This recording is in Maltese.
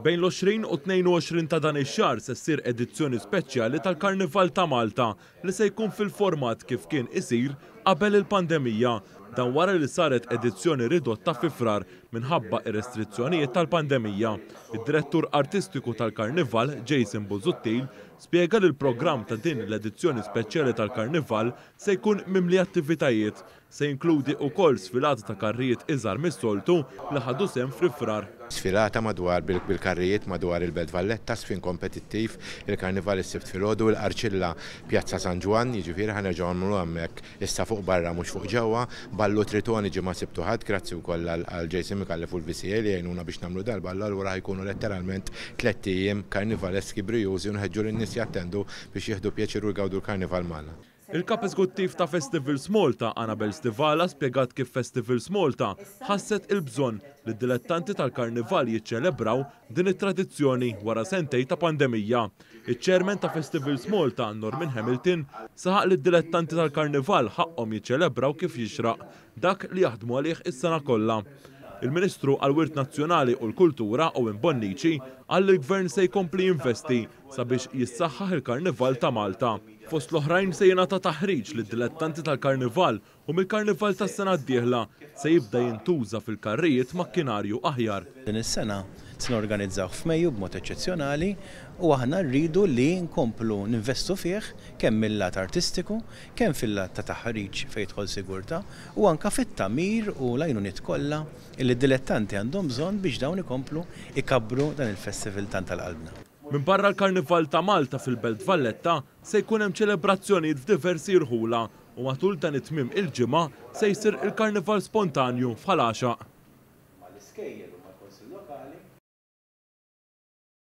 Bejn l-20 u 22 ta' dan ix-xahar se ssir edizzjoni speċjali tal-Karnival ta' Malta li se jkun fil-format kif kien isir qabel il-pandemija. Dan wara li saret edizzjoni ridotta fi Frar minħabba ir-restrizzjonijiet tal-pandemija. Id-direttur artistiku tal-Karnival, Jason Busuttil, spjega li l-programm ta' din l-edizzjoni speċjali tal-Karnival se jkun mimli attivitajiet. Se jinkludi wkoll sfilata ta' karrijiet iżgħar mis-soltu li ħadu sehem fi Frar. Sfilata madwar bil-karrijiet madwar il-Belt Valletta, żfin kompetittiv, il-Karnival is-Sibt filgħodu, il-Qarċilla Pjazza San Ġwann, jiġifieri ħa nerġgħu nagħmluha hemmhekk issa fuq barra mhux fuq ġewwa, ballu Tritoni ġimgħa Sibt u Ħadd, grazzi wkoll għal Jason Micallef u l-VCA li jgħinuna biex nagħmlu dal-ballu allura ħa jkunu letteralment tlett ijiem karnivaleski brijużi u nħeġġu lin-nies jattendu biex jieħdu pjaċir u jgawdu l-Karnival magħna. Il-Kap Eżekuttiv ta' Festivals Malta, Annabel Stivala, spjegat kif Festivals Malta ħasset il-bżonn li d-dilettanti tal-Karnival jiċċelebraw din it-tradizzjoni wara sentejn ta' pandemija. Iċ-Chairman ta' Festivals Malta, Norman Hamilton, saħaq li d-dilettanti tal-Karnival ħaqqhom jiċċelebraw kif jixraq dak li jaħdmu għalih is-sena kollha. Il-Ministru għall-Wirt Nazzjonali u l-Kultura, Owen Bonnici, qal li l-Gvern se jkompli jinvesti sabiex jissaħħaħ il-Karnival ta' Malta. Fost l-oħrajn se jingħata taħriġ lid-dilettanti tal-Karnival u mill-Karnival tas-sena d-dieħla se jibda jintuża fil-karrijiet makkinarju aħjar. Din is-sena se norganizzawh f'Mejju b'mod eċċezzjonali u aħna rridu li nkomplu ninvestu fih kemm mill-lat artistiku, kemm fil-lat ta' taħriġ fejn jidħol sigurtà u anke fit-tagħmir u l-għajnuniet kollha li d-dilettanti għandhom bżonn biex dawn ikomplu jkabbru dan il-festival tant għal qalbna. Minbarra l-Karnival ta' Malta fil-Belt Valletta, se jkun hemm ċelebrazzjonijiet f'diversi rħula u matul dan it-tmiem il-ġimgħa se jsir il-Karnival Spontanju f'Ħal Għaxaq.